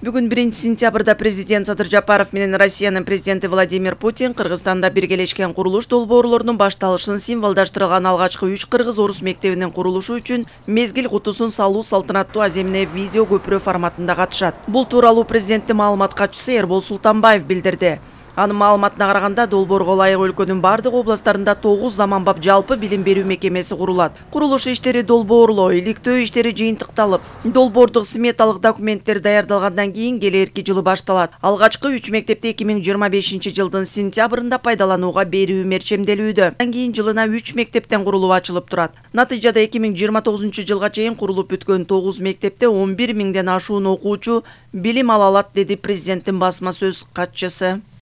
Бүгүн 1-сентябрда президент Садыр Жапаров менен Россиянын президенти Владимир Путин Кыргызстанда биргелешкен курулуш долбоорлорунун башталышын символдаштырган алгачкы 3 кыргыз-орус мектебинин курулушу үчүн мезгил кутусун салуу салтанаттуу аземине видео көпүрө форматында катышат. Бул тууралуу президенттин маалымат катчысы Эрбол Султанбаев билдирди. Анын маалыматына караганда долбоорго ылайык өлкөнүн бардык областтарында 9 заманбап жалпы билим берүү мекемеси курулат. Курулуш иштери долбоорлоо, иликтөө иштери жыйынтыкталып, долбоордук сметалык документтер даярдалгандан кийин келерки жылы башталат. Алгачкы 3 мектепти 2025-жылдын сентябрында пайдаланууга берүү мерчемделүүдө. Андан кийин жылына 3 мектептен курулуп ачылып турат. Натыйжада 2029-жылга чейин курулуп бүткөн 9 мектепте 11 миңден ашуун окуучу билим ала алат, деди президенттин басма сөз катчысы.